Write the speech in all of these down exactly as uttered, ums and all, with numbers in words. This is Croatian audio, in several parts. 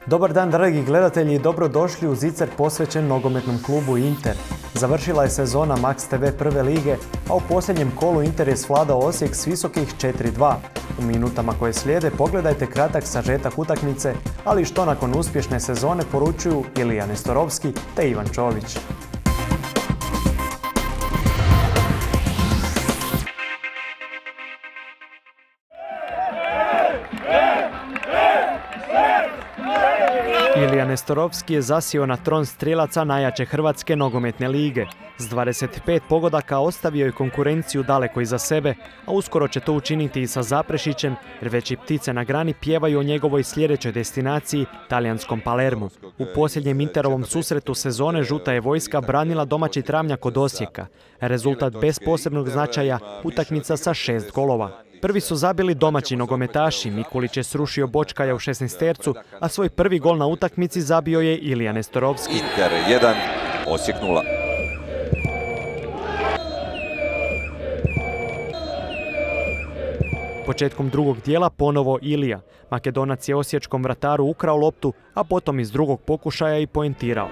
Dobar dan, dragi gledatelji, dobrodošli u zicer posvećen nogometnom klubu Inter. Završila je sezona Max te ve prve lige, a u posljednjem kolu Inter je svladao Osijek s visokih četiri dva. U minutama koje slijede pogledajte kratak sažetak utakmice, ali što nakon uspješne sezone poručuju Ilija Nestorovski te Ivan Čović. Ilija Nestorovski je zasio na tron strijelaca najjače hrvatske nogometne lige. S dvadeset pet pogodaka ostavio je konkurenciju daleko iza sebe, a uskoro će to učiniti i sa Zaprešićem, jer već i ptice na grani pjevaju o njegovoj sljedećoj destinaciji, talijanskom Palermu. U posljednjem Interovom susretu sezone žuta je vojska branila domaći Travnjak od Osijeka. Rezultat bez posebnog značaja, utakmica sa šest golova. Prvi su zabili domaći nogometaši, Mikulić je srušio Bočkaja u šesnaestercu, a svoj prvi gol na utakmici zabio je Ilija Nestorovski. Inter jedan, Osijek nula. Početkom drugog dijela ponovo Ilija. Makedonac je osječkom vrataru ukrao loptu, a potom iz drugog pokušaja i poentirao.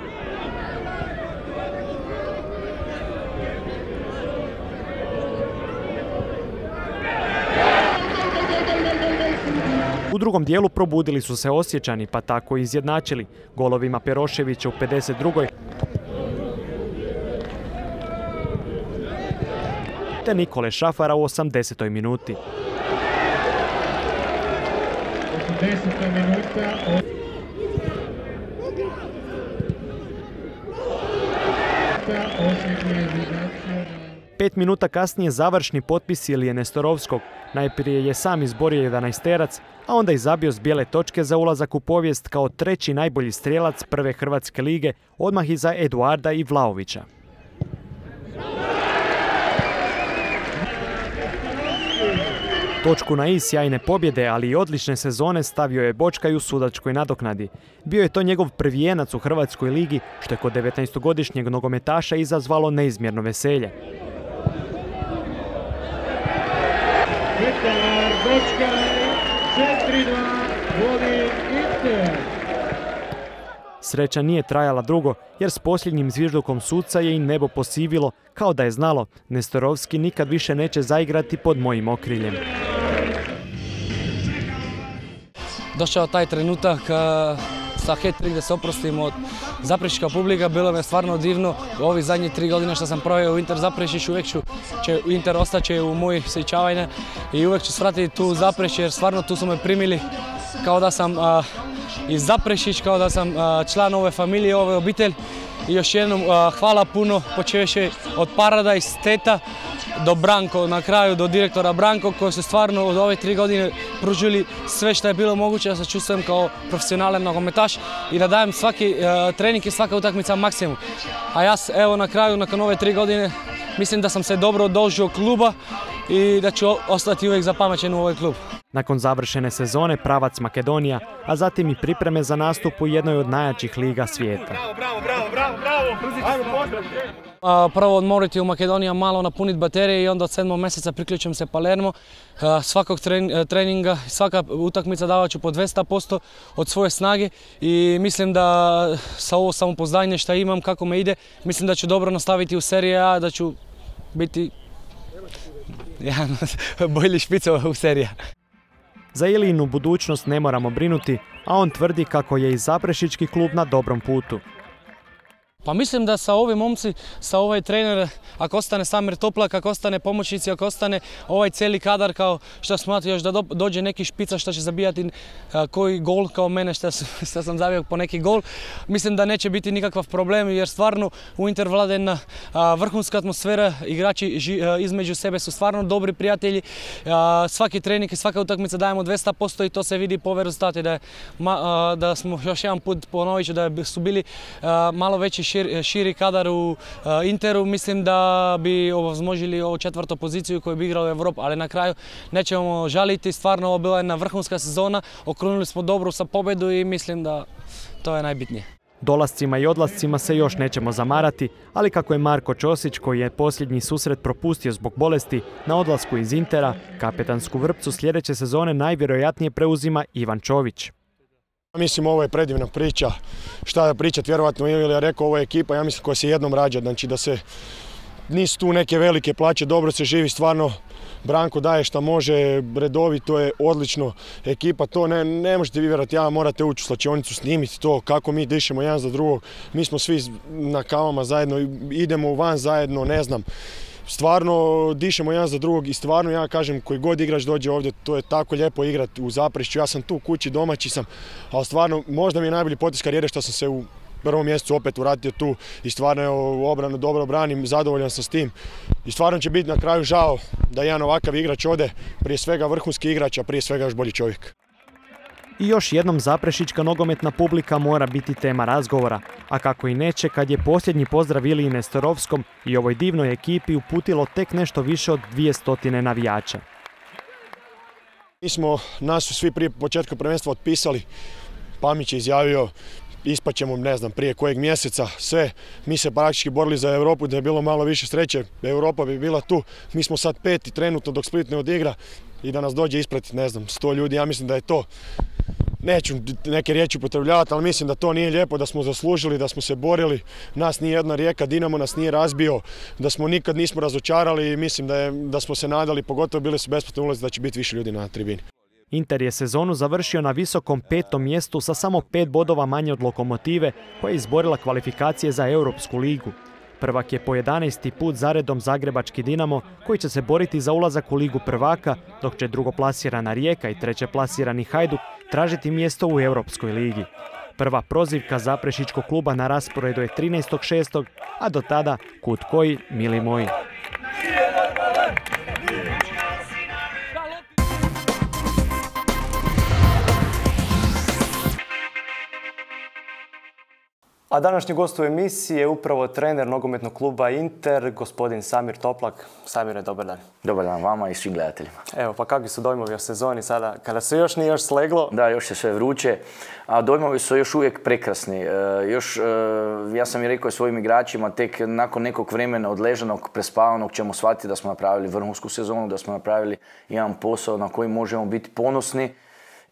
U drugom dijelu probudili su se Osječani, pa tako i izjednačili golovima Peroševića u pedeset drugoj te Nikole Šafara u osamdesetoj minuti. Pet minuta kasnije završni potpis Ilije Nestorovskog. Najprije je sam izborio jedanaesterac, a onda i zabio s bijele točke za ulazak u povijest kao treći najbolji strijelac prve hrvatske lige, odmah iza Eduarda i Vlahovića. Točku na i sjajne pobjede, ali i odlične sezone stavio je Bočkaj u sudačkoj nadoknadi. Bio je to njegov prvijenac u hrvatskoj ligi, što je kod devetnaestogodišnjeg nogometaša izazvalo neizmjerno veselje. Sreća nije trajala dugo, jer s posljednjim zviždukom suca je i nebo posivilo, kao da je znalo, Nestorovski nikad više neće zaigrati pod mojim okriljem. Došao taj trenutak sa hat-trick da se oprostim od Zaprešićka publika, bilo mi je stvarno divno. Ovi zadnji tri godine što sam proveo u Inter Zaprešić, uvijek ću, će Inter ostaće u moj sjećavanje i uvijek ću svratiti tu Zaprešić, jer stvarno tu su me primili kao da sam a, iz Zaprešić, kao da sam a, član ove familije, ove obitelji. I još jednom a, hvala puno, počeveći od Paradise, Teta, do Branko, na kraju do direktora Branko, koji su stvarno od ove tri godine pružili sve što je bilo moguće da se čustujem kao profesionalan nogometaš i da dajem svaki uh, trening i svaka utakmica maksimum. A ja evo na kraju, nakon ove tri godine, mislim da sam se dobro dožio kluba i da ću ostati uvijek zapamćen u ovaj klub. Nakon završene sezone pravac Makedonija, a zatim i pripreme za nastup u jednoj od najjačih liga svijeta. Bravo, bravo, bravo, bravo, bravo. Prvo odmoriti u Makedoniji, malo napuniti baterije i onda od sedmog mjeseca priključim se Palermo. Svakog treninga, svaka utakmica davat ću po dvesta posto od svoje snage i mislim da sa ovo samopouzdanje što imam, kako me ide, mislim da ću dobro nastaviti u seriji A, da ću biti jedan bolji špica u seriji A. Za Ilijinu budućnost ne moramo brinuti, a on tvrdi kako je i Zaprešićki klub na dobrom putu. Pa mislim da sa ovim momci, sa ovaj trener, ako ostane Samir Toplak, ako ostane pomoćnici, ako ostane ovaj cijeli kadar, kao što smatram još da dođe neki špica što će zabijati koji gol kao mene što sam zabio po neki gol, mislim da neće biti nikakav problem, jer stvarno u Inter vlada jedna vrhunska atmosfera, igrači između sebe su stvarno dobri prijatelji, svaki trening i svaka utakmica dajemo dvesta posto i to se vidi po rezultati da, da smo još jedan put ponovit da su bili malo veći Širi, širi kadar u uh, Interu, mislim da bi ovozmožili ovu četvrtu poziciju koju bi igrali u Evropu, ali na kraju nećemo žaliti, stvarno ovo bila jedna vrhunska sezona, okrunili smo dobro sa pobjedu i mislim da to je najbitnije. Dolascima i odlascima se još nećemo zamarati, ali kako je Marko Ćosić, koji je posljednji susret propustio zbog bolesti, na odlasku iz Intera, kapetansku vrpcu sljedeće sezone najvjerojatnije preuzima Ivan Čović. Mislim, ovo je predivna priča. Šta da pričat, vjerovatno ili ja rekao, ovo je ekipa, ja mislim, koja se jednom rađa. Znači da se nisu tu neke velike plaće, dobro se živi, stvarno Branko daje šta može, redovito je, odlično. Ekipa, to ne, ne možete vi vjerovati, ja morate ući u slačionicu, snimiti to, kako mi dišemo jedan za drugog. Mi smo svi na kavama zajedno, idemo van zajedno, ne znam. Stvarno dišemo jedan za drugog i stvarno ja kažem, koji god igrač dođe ovdje, to je tako lijepo igrati u Zaprešiću. Ja sam tu kući, domaći sam, ali stvarno možda mi je najbolji potez karijere što sam se u prvom mjesecu opet vratio tu i stvarno je obranu dobro branim, zadovoljan sam s tim. I stvarno će biti na kraju žao da jedan ovakav igrač ode, prije svega vrhunski igrač, a prije svega još bolji čovjek. I još jednom zaprešićka nogometna publika mora biti tema razgovora, a kako i neće kad je posljednji pozdrav Iliji Nestorovskom i ovoj divnoj ekipi uputilo tek nešto više od dvije stotine navijača. Mi smo, nas su svi prije početka prvenstva otpisali, Pamić je izjavio ispaćemo, ne znam, prije kojeg mjeseca sve. Mi se praktički borili za Europu, da je bilo malo više sreće, Europa bi bila tu. Mi smo sad peti trenutno dok Split ne odigra i da nas dođe ispred, ne znam, sto ljudi, ja mislim da je to. Neću neke riječi upotrebljavati, ali mislim da to nije lijepo, da smo zaslužili, da smo se borili. Nas nije jedna Rijeka, Dinamo nas nije razbio, da smo nikad nismo razočarali i mislim da, je, da smo se nadali, pogotovo bili su besplatni ulazi, da će biti više ljudi na tribini. Inter je sezonu završio na visokom petom mjestu sa samo pet bodova manje od Lokomotive, koja je izborila kvalifikacije za Europsku ligu. Prvak je po jedanaesti put zaredom zagrebački Dinamo, koji će se boriti za ulazak u Ligu prvaka, dok će drugoplasirana Rijeka i trećeplasirani Hajduk tražiti mjesto u Europskoj ligi. Prva prozivka zaprešićkog kluba na rasporedu je trinaestog šestog a do tada kud koji, mili moji. A današnji gost u emisiji je upravo trener nogometnog kluba Inter, gospodin Samir Toplak. Samire, dobar dan. Dobar dan vama i svim gledateljima. Evo, pa kakvi su dojmovi o sezoni sada, kada se još nije još sleglo? Da, još je sve vruće, a dojmovi su još uvijek prekrasni. E, još, e, ja sam i rekao svojim igračima, tek nakon nekog vremena odležanog, prespavanog ćemo shvatiti da smo napravili vrhunsku sezonu, da smo napravili jedan posao na koji možemo biti ponosni.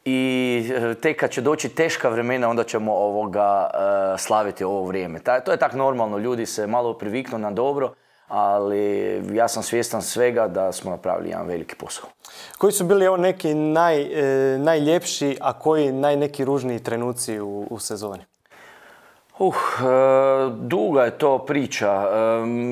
I tek kad će doći teška vremena, onda ćemo ovoga, uh, slaviti ovo vrijeme. Ta, to je tak normalno, ljudi se malo priviknu na dobro, ali ja sam svjestan svega da smo napravili jedan veliki posao. Koji su bili evo neki naj, e, najljepši, a koji naj neki ružniji trenuci u, u sezoni? Uh, duga je to priča.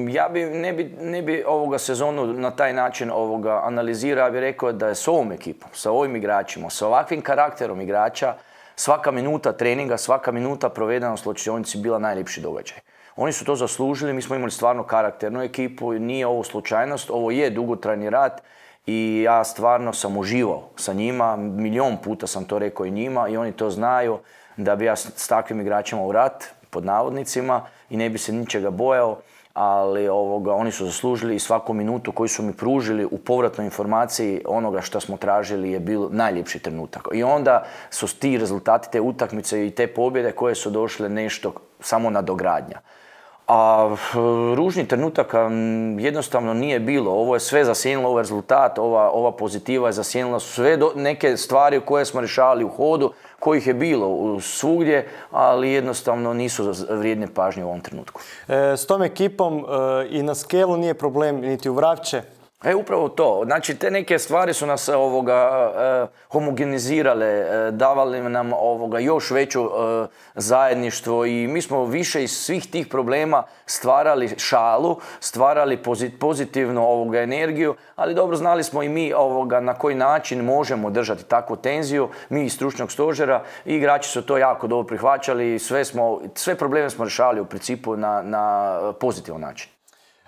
Ja bi, ne bi, ne bi ovoga sezonu na taj način ovoga analizirao, ja bih rekao da je s ovom ekipom, sa ovim igračima, sa ovakvim karakterom igrača, svaka minuta treninga, svaka minuta provedena u slačionici bila najljepši događaj. Oni su to zaslužili, mi smo imali stvarno karakternu ekipu, nije ovo slučajnost, ovo je dugotrajni rad i ja stvarno sam uživao sa njima, milion puta sam to rekao i njima i oni to znaju, da bi ja s takvim igračima u rat, pod navodnicima, i ne bi se ničega bojao, ali ovoga, oni su zaslužili i svaku minutu koju su mi pružili u povratnoj informaciji onoga što smo tražili je bio najljepši trenutak. I onda su ti rezultati, te utakmice i te pobjede koje su došle nešto samo nadogradnja. A ružni trenutaka jednostavno nije bilo. Ovo je sve zasjenilo, ovaj rezultat, ova, ova pozitiva je zasjenila sve do, neke stvari koje smo rješavali u hodu, kojih je bilo svugdje, ali jednostavno nisu vrijedne pažnje u ovom trenutku. E, s tom ekipom e, i na skelu nije problem, niti u Vrapče. E, upravo to. Znači, te neke stvari su nas ovoga, eh, homogenizirale, eh, davali nam ovoga, još veću eh, zajedništvo i mi smo više iz svih tih problema stvarali šalu, stvarali pozit, pozitivnu ovoga, energiju, ali dobro znali smo i mi ovoga, na koji način možemo držati takvu tenziju, mi iz stručnog stožera, i igrači su to jako dobro prihvaćali i sve, smo, sve probleme smo rješavali u principu na, na pozitivan način.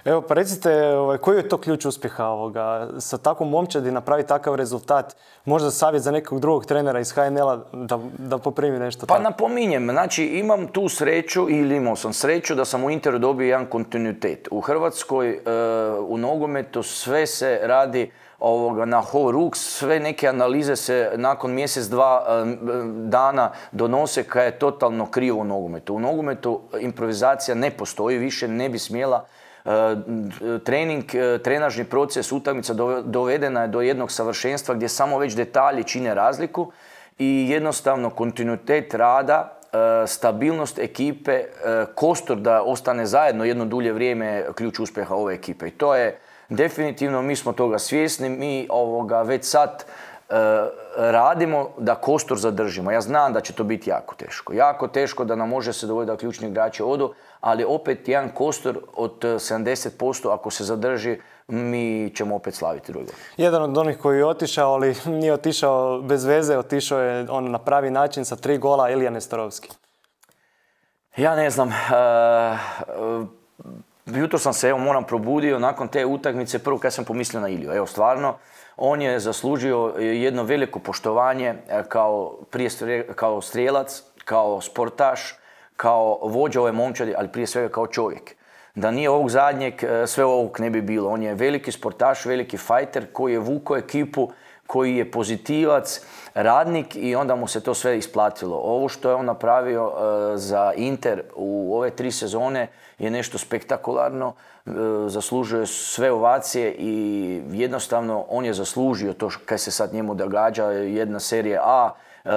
Evo, pa recite, ovaj, koji je to ključ uspjeha ovoga? Sa takvom momčadi napravi takav rezultat, možda savjet za nekog drugog trenera iz H N L-a da, da poprimi nešto Pa tako? napominjem, znači imam tu sreću, ili imao sam sreću da sam u Interu dobio jedan kontinuitet. U Hrvatskoj, e, u nogometu sve se radi ovoga, na ho ruk, sve neke analize se nakon mjesec, dva e, dana donose kad je totalno krivo u nogometu. U nogometu improvizacija ne postoji, više ne bi smjela. Trening, trenažni proces, utakmica dovedena je do jednog savršenstva gdje samo već detalji čine razliku i jednostavno kontinuitet rada, stabilnost ekipe, kostur da ostane zajedno jedno dulje vrijeme je ključ uspjeha ove ekipe. I to je definitivno, mi smo toga svjesni, mi ovoga već sad radimo da kostur zadržimo. Ja znam da će to biti jako teško. Jako teško da nam može se dogoditi da ključni igrači odu, ali opet jedan kostur od sedamdeset posto ako se zadrži, mi ćemo opet slaviti drugo. Jedan od onih koji je otišao, ali nije otišao bez veze, otišao je on na pravi način sa tri gola, Ilija Nestorovski. Ja ne znam. Uh, uh, jutro sam se, evo, moram probudio nakon te utakmice, prvo kad sam pomislio na Iliju. Evo, stvarno, on je zaslužio jedno veliko poštovanje kao, prije, kao strijelac, kao sportaš, kao vođa ove momčadi, ali prije svega kao čovjek. Da nije ovog zadnjeg, sve ovog ne bi bilo. On je veliki sportaš, veliki fajter koji je vukao ekipu, koji je pozitivac, radnik i onda mu se to sve isplatilo. Ovo što je on napravio uh, za Inter u ove tri sezone je nešto spektakularno. Uh, zaslužuje sve ovacije i jednostavno on je zaslužio to kaj se sad njemu događa, jedna serija A. Uh,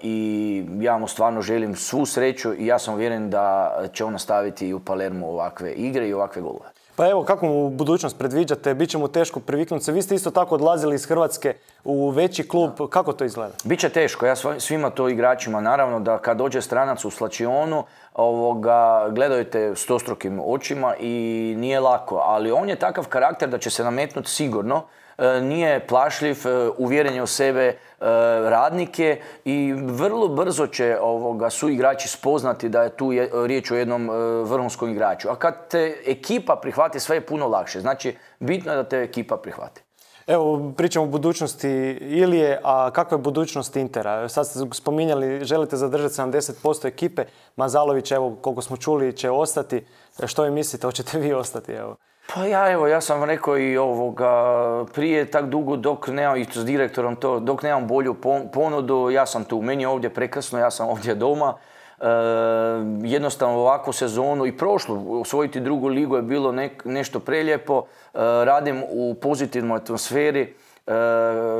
i ja mu stvarno želim svu sreću i ja sam uvjeren da će on nastaviti i u Palermu ovakve igre i ovakve golove. Pa evo, kako mu budućnost predviđate? Biće mu teško priviknuti se. Vi ste isto tako odlazili iz Hrvatske u veći klub. Da. Kako to izgleda? Biće teško. Ja svima to igračima, naravno, da kad dođe stranac u slačionu, ovoga, gledaju te stostrukim očima i nije lako. Ali on je takav karakter da će se nametnuti sigurno. Nije plašljiv, uvjeren je u sebe, radnike i vrlo brzo će ovoga, su igrači spoznati da je tu je, riječ o jednom vrhunskom igraču. A kad te ekipa prihvati, sve je puno lakše. Znači, bitno je da te ekipa prihvati. Evo, pričamo o budućnosti Ilije, a kakva je budućnost Intera? Sad ste spominjali, želite zadržati sedamdeset posto ekipe. Mazalović, evo, koliko smo čuli, će ostati. Što vi mislite, hoćete vi ostati? Evo. Pa ja, evo, ja sam rekao i ovoga, prije tak dugo dok nemam, i s direktorom to, dok nemam bolju ponudu, ja sam tu. Meni je ovdje prekrasno, ja sam ovdje doma. E, jednostavno ovakvu sezonu i prošlu, osvojiti drugu ligu je bilo ne, nešto prelijepo. E, radim u pozitivnoj atmosferi. E,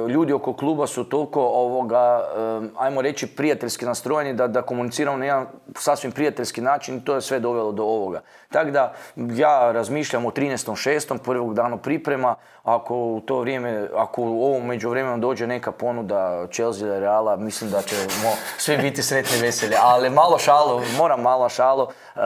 ljudi oko kluba su toliko ovoga, e, ajmo reći, prijateljski nastrojeni da, da komuniciramo na jedan sasvim prijateljski način i to je sve dovelo do ovoga. Tako da ja razmišljam o trinaestom šestom prvog danu priprema, ako u to vrijeme, ako u ovom međuvremenu dođe neka ponuda Chelsea ili Reala, mislim da ćemo svi biti sretni i veseli. Ali malo šalo, moram malo šalo, e,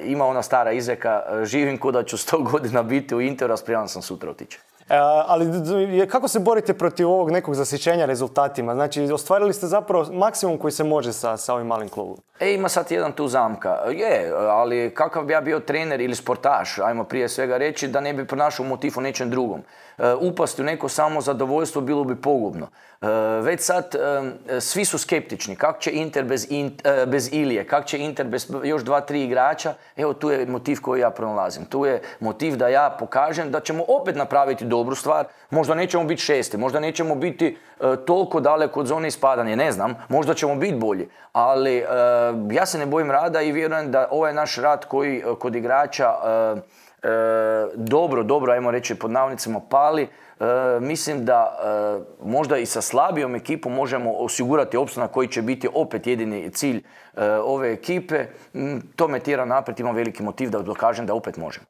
ima ona stara izreka, živim ko da ću sto godina biti u Interu, a spreman sam sutra otići. E, ali kako se borite protiv ovog nekog zasićenja rezultatima? Znači, ostvarili ste zapravo maksimum koji se može sa, sa ovim malim klubom. E, ima sad jedan tu zamka. Je, ali kakav bi ja bio trener ili sportaš, ajmo prije svega reći, da ne bi pronašao motiv u nečem drugom. E, upasti u neko samo zadovoljstvo bilo bi pogubno. E, već sad e, svi su skeptični. Kako će Inter bez, in, e, bez Ilije? Kako će Inter bez još dva, tri igrača? Evo, tu je motiv koji ja pronalazim. Tu je motiv da ja pokažem da ćemo opet napraviti dobru stvar. Možda nećemo biti šesti, možda nećemo biti e, toliko daleko od zone ispadanja, ne znam. Možda ćemo biti bolji. Ali e, ja se ne bojim rada i vjerujem da ovaj naš rad koji kod igrača e, e, dobro, dobro, ajmo reći pod navodnicima, pali. E, mislim da e, možda i sa slabijom ekipom možemo osigurati opstanak koji će biti opet jedini cilj e, ove ekipe. To me tjera naprijed, imam veliki motiv da dokažem da opet možemo.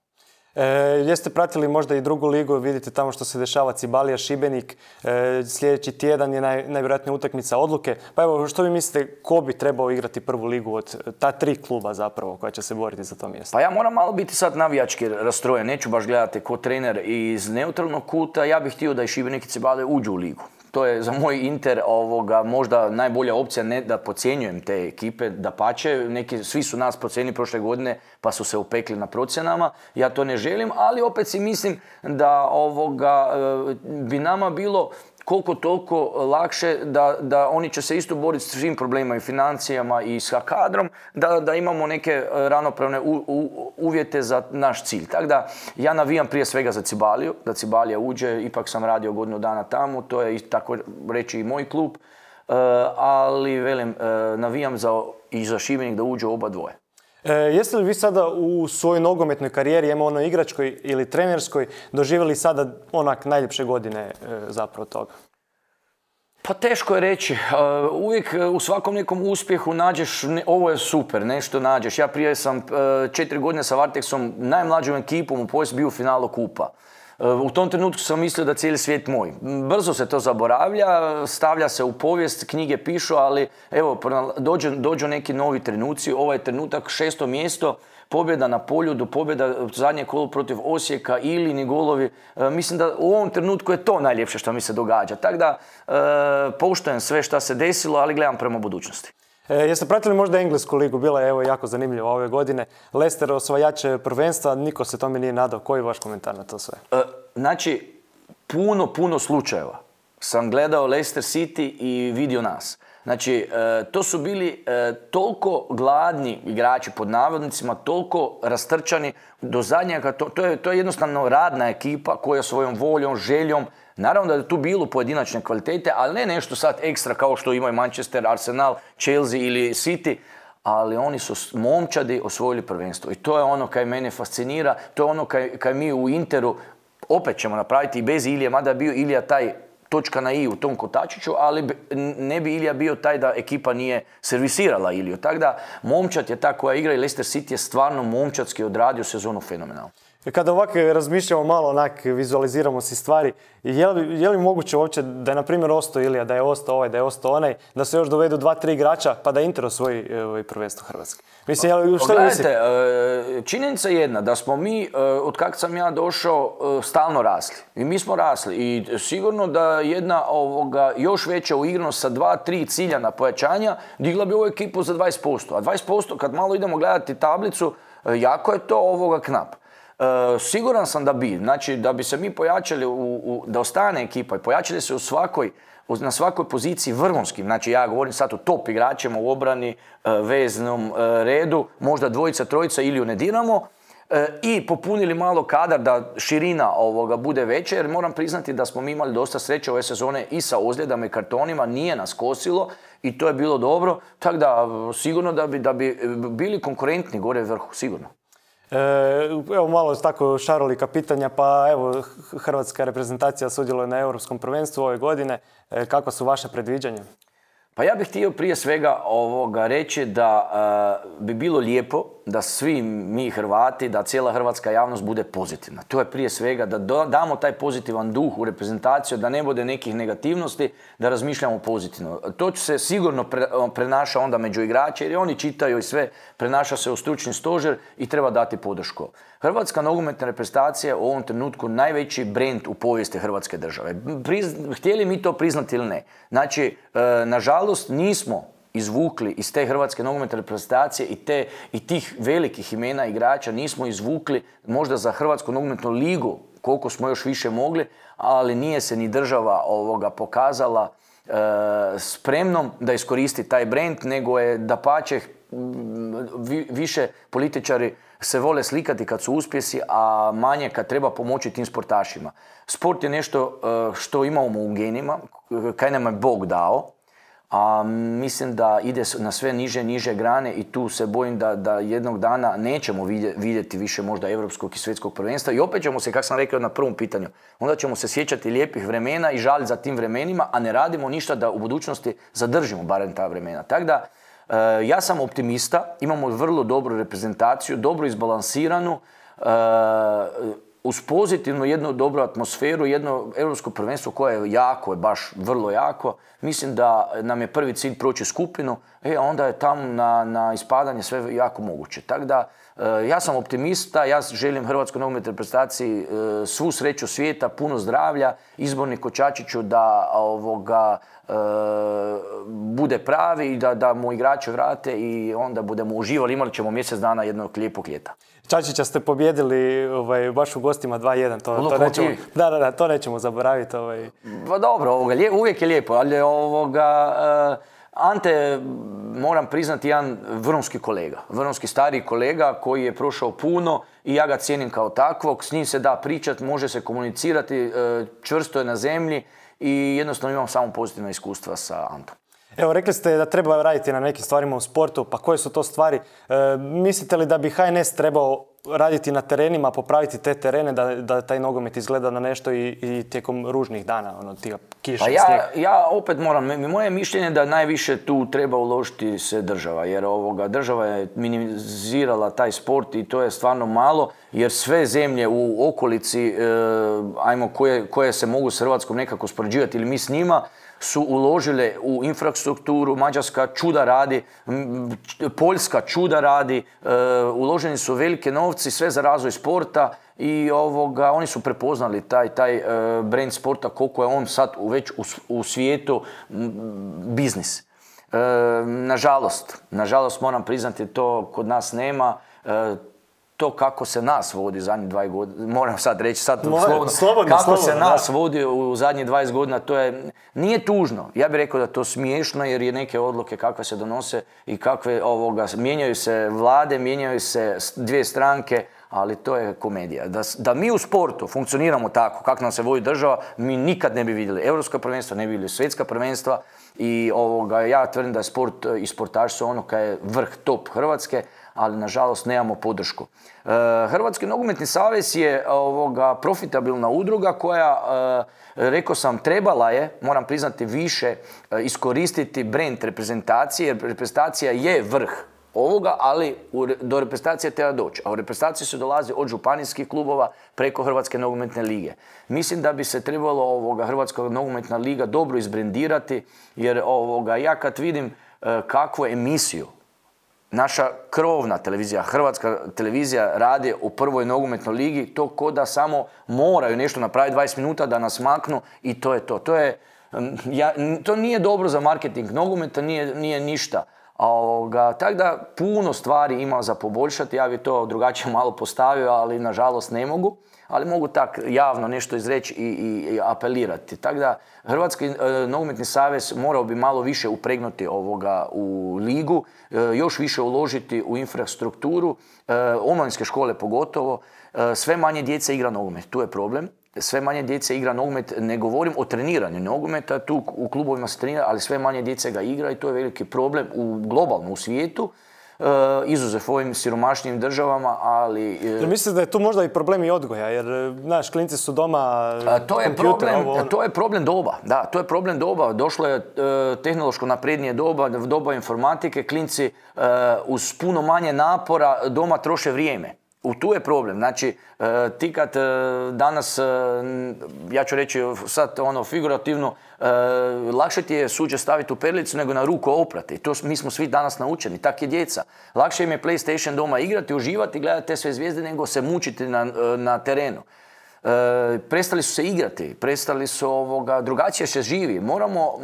E, jeste pratili možda i drugu ligu, vidite tamo što se dešava, Cibalija, Šibenik, e, sljedeći tjedan je naj, najvjerojatnija utakmica odluke. Pa evo, što vi mislite, ko bi trebao igrati prvu ligu od ta tri kluba zapravo koja će se boriti za to mjesto? Pa ja moram malo biti sad navijački rastrojen, neću baš gledati ko trener iz neutralnog kuta, ja bih htio da i Šibenik i Cibalija uđu u ligu. To je za moj Inter ovoga, možda najbolja opcija, ne da podcjenjujem te ekipe, dapače, neki, svi su nas procijenili prošle godine pa su se upekli na procjenama, ja to ne želim, ali opet si mislim da ovoga, bi nama bilo koliko toliko lakše da, da oni će se isto boriti s svim problemima i financijama i sa kadrom, da, da imamo neke ravnopravne u, u, uvjete za naš cilj. Tako da ja navijam prije svega za Cibaliju, da Cibalija uđe, ipak sam radio godinu dana tamo, to je tako reći i moj klub, uh, ali velim, uh, navijam za, i za Šibenik da uđe oba dvoje. E, jeste li vi sada u svojoj nogometnoj karijeri, ima ono igračkoj ili trenerskoj, doživjeli sada onak najljepše godine e, zapravo toga? Pa teško je reći. Uvijek u svakom nekom uspjehu nađeš, ovo je super, nešto nađeš. Ja prije sam četiri godine sa Varteksom, najmlađom ekipom u povijesti bio u finalu kupa. U tom trenutku sam mislio da cijeli svijet moj. Brzo se to zaboravlja, stavlja se u povijest, knjige pišu, ali evo, dođu, dođu neki novi trenuci. Ovaj trenutak, šesto mjesto, pobjeda na Poljudu, pobjeda zadnje kolo protiv Osijeka, Ilini golovi. E, mislim da u ovom trenutku je to najljepše što mi se događa. Tako da e, poštujem sve što se desilo, ali gledam prema budućnosti. E, jeste pratili možda Englesku ligu? Bila je evo jako zanimljiva ove godine. Leicester osvajač prvenstva, niko se tome nije nadao. Koji je vaš komentar na to sve? E, znači, puno, puno slučajeva sam gledao Leicester City i vidio nas. Znači, e, to su bili e, toliko gladni igrači pod navodnicima, toliko rastrčani do zadnjega. To, to, je, to je jednostavno radna ekipa koja svojom voljom, željom, naravno da je tu bilo pojedinačne kvalitete, ali ne nešto sad ekstra kao što imaju Manchester, Arsenal, Chelsea ili City, ali oni su momčadi osvojili prvenstvo. I to je ono kaj mene fascinira, to je ono kaj, kaj mi u Interu opet ćemo napraviti i bez Ilije, mada je bio Ilija taj točka na i u tom kotačiću, ali ne bi Ilija bio taj da ekipa nije servisirala Iliju. Tako da, momčad je ta koja igra i Leicester City je stvarno momčadski odradio sezonu fenomenalno. Kada ovako razmišljamo malo, onak, vizualiziramo si stvari, je li, je li moguće uopće da je, na primjer, ostao Ilija, da je ostao ovaj, da je ostao onaj, da se još dovedu dva, tri igrača, pa da Inter osvoji ovaj prvenstvo Hrvatske? Mislim, je li, što Gledajte, činjenica je jedna, da smo mi, od kak sam ja došao, stalno rasli. I mi smo rasli. I sigurno da jedna ovoga, još veća uigranost sa dva, tri ciljana pojačanja digla bi ovu ekipu za dvadeset posto. A dvadeset posto, kad malo idemo gledati tablicu, jako je to ovoga knap. Uh, siguran sam da bi, znači da bi se mi pojačali, u, u, da ostane ekipa i pojačali se u svakoj, na svakoj poziciji vrhunskim, znači ja govorim sad o top igračima u obrani, uh, veznom uh, redu, možda dvojica, trojica ili ne diramo, uh, i popunili malo kadar da širina ovoga bude veća, jer moram priznati da smo mi imali dosta sreće ove sezone i sa ozljedama i kartonima, nije nas kosilo i to je bilo dobro, tako da sigurno da bi, da bi bili konkurentni gore vrhu, sigurno. Evo malo tako šarolika pitanja, pa evo hrvatska reprezentacija sudjeluje na Europskom prvenstvu ove godine. Kako su vaše predviđanja? Pa ja bih htio prije svega ovoga reći da uh, bi bilo lijepo da svi mi Hrvati, da cijela hrvatska javnost bude pozitivna. To je prije svega da do, damo taj pozitivan duh u reprezentaciju, da ne bude nekih negativnosti, da razmišljamo pozitivno. To će se sigurno pre, prenaša onda među igrače, jer oni čitaju i sve, prenaša se u stručni stožer i treba dati podršku. Hrvatska nogometna reprezentacija je u ovom trenutku najveći brend u povijesti Hrvatske države. Priz, htjeli mi to priznati ili ne. Znači, e, nažalost, nismo izvukli iz te hrvatske nogometne reprezentacije i, te, i tih velikih imena igrača, nismo izvukli možda za Hrvatsku nogometnu ligu koliko smo još više mogli, ali nije se ni država ovoga pokazala e, spremnom da iskoristi taj brend, nego je dapače vi, više političari se vole slikati kad su uspjesi, a manje kad treba pomoći tim sportašima. Sport je nešto e, što imamo u genima, kaj nam je Bog dao, a mislim da ide na sve niže niže grane i tu se bojim da, da jednog dana nećemo vidjeti više možda europskog i svjetskog prvenstva i opet ćemo se, kako sam rekao na prvom pitanju, onda ćemo se sjećati lijepih vremena i žaliti za tim vremenima, a ne radimo ništa da u budućnosti zadržimo barem ta vremena. Tako da, e, ja sam optimista, imamo vrlo dobru reprezentaciju, dobro izbalansiranu, e, uz pozitivnu jednu dobru atmosferu, jedno europsko prvenstvo koje je jako, je baš vrlo jako. Mislim da nam je prvi cilj proći skupinu, e, a onda je tamo na, na ispadanje sve jako moguće. Tako da, e, ja sam optimista, ja želim Hrvatskoj nogometnoj reprezentaciji e, svu sreću svijeta, puno zdravlja, izborniku Čačiću da ovoga, e, bude pravi i da, da mu igrače vrate i onda budemo uživali, imali ćemo mjesec dana jednog lijepog ljeta. Čačića ste pobjedili ovaj, baš u gostima dva jedan, to, to, nećemo, da, da, da, to nećemo zaboraviti. Ovaj. Pa dobro, ovoga, uvijek je lijepo, ali ovoga, uh, Ante, moram priznati, jedan vrhunski kolega, vrhunski stariji kolega koji je prošao puno i ja ga cijenim kao takvog, s njim se da pričati, može se komunicirati, uh, čvrsto je na zemlji i jednostavno imam samo pozitivna iskustva sa Antom. Evo, rekli ste da treba raditi na nekim stvarima u sportu, pa koje su to stvari? E, mislite li da bi H N S trebao raditi na terenima, popraviti te terene da, da taj nogomet izgleda na nešto i, i tijekom ružnih dana, ono, tih kiša, pa snijeg? ja, ja opet moram, moje mišljenje je da najviše tu treba uložiti se država, jer ovoga, država je minimizirala taj sport i to je stvarno malo, jer sve zemlje u okolici, e, ajmo, koje, koje se mogu s Hrvatskom nekako spoređivati ili mi s njima, su uložile u infrastrukturu, Mađarska čuda radi, Poljska čuda radi, e, uloženi su velike novci, sve za razvoj sporta i ovoga, oni su prepoznali taj, taj e, brand sporta, koliko je on sad u, već u, u svijetu m, biznis. E, nažalost, nažalost moram priznati, to kod nas nema. E, to kako se nas vodi zadnjih dvadeset godina, moram sad reći sad Moje, slobodno, slobodno, kako slobodno, se nas da. vodi u zadnjih dvadeset godina, to je, nije tužno. Ja bih rekao da to smiješno jer je neke odluke kakve se donose i kakve ovoga, mijenjaju se vlade, mijenjaju se dvije stranke, ali to je komedija. Da, da mi u sportu funkcioniramo tako, kako nam se vodi država, mi nikad ne bi vidjeli europska prvenstva, ne bi vidjeli svjetska prvenstva i ovoga, ja tvrdim da je sport i sportaš su ono kaj je vrh top Hrvatske, ali nažalost nemamo podršku. E, Hrvatski nogometni savez je ovoga, profitabilna udruga koja, e, rekao sam, trebala je, moram priznati, više e, iskoristiti brand reprezentacije, jer reprezentacija je vrh ovoga, ali u, do reprezentacije treba doći. A u reprezentaciju se dolazi od županijskih klubova preko Hrvatske nogometne lige. Mislim da bi se trebalo ovoga, Hrvatska nogometna liga dobro izbrendirati, jer ovoga, ja kad vidim e, kakvu emisiju naša krovna televizija, Hrvatska televizija radi u prvoj nogometnoj ligi, to ko da samo moraju nešto napraviti dvadeset minuta da nas maknu i to je to. To, je, ja, to nije dobro za marketing nogometa, nije, nije ništa. Tako da puno stvari ima za poboljšati, ja bi to drugačije malo postavio, ali nažalost ne mogu. Ali mogu tak javno nešto izreći i, i, i apelirati. Tako da Hrvatski e, nogometni savez morao bi malo više upregnuti ovoga u ligu, e, još više uložiti u infrastrukturu, e, omladinske škole pogotovo. E, sve manje djece igra nogomet, tu je problem. Sve manje djece igra nogomet, ne govorim o treniranju nogometa, tu u klubovima se trenira, ali sve manje djece ga igra i to je veliki problem u, globalno u svijetu. Uh, izuzev ovim siromašnijim državama, ali... Uh, jer mislite da je tu možda i problem i odgoja, jer, znaš, klinci su doma, uh, to je kompjuter, problem, ovo, ono. To je problem doba, da, to je problem doba. Došlo je uh, tehnološko naprednije doba, doba informatike, klinci uh, uz puno manje napora doma troše vrijeme. U tu je problem. Znači, uh, ti kad uh, danas, uh, ja ću reći sad ono figurativno, uh, lakše ti je suđe staviti u perlicu nego na ruku oprati. To mi smo svi danas naučeni, tak je djeca. Lakše im je PlayStation doma igrati, uživati, gledati te sve zvijezde nego se mučiti na, na terenu. Uh, prestali su se igrati, prestali su ovoga, drugačije se živi. Moramo,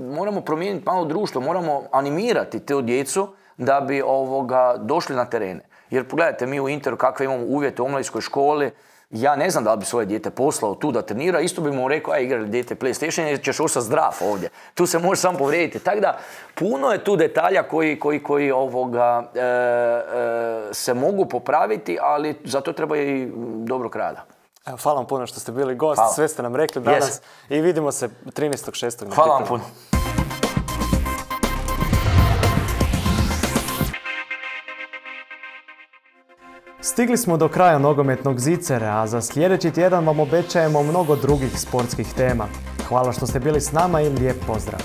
moramo promijeniti malo društvo, moramo animirati te djecu da bi ovoga, došli na terene. Jer pogledajte, mi u Interu kakve imamo uvjete u omladinskoj školi, ja ne znam da li bi svoje dijete poslao tu da trenira, isto bi mu rekao, aj igrali dijete PlayStation jer ćeš ostati zdrav ovdje. Tu se možeš sam povrijediti. Tako da, puno je tu detalja koji, koji, koji ovoga, e, e, se mogu popraviti, ali za to treba i dobrog rada. Evo, hvala vam puno što ste bili gost, hvala. Sve ste nam rekli danas yes. I vidimo se trinaestog šestog Hvala vam puno. Stigli smo do kraja nogometnog zicera, a za sljedeći tjedan vam obećajemo mnogo drugih sportskih tema. Hvala što ste bili s nama i lijep pozdrav!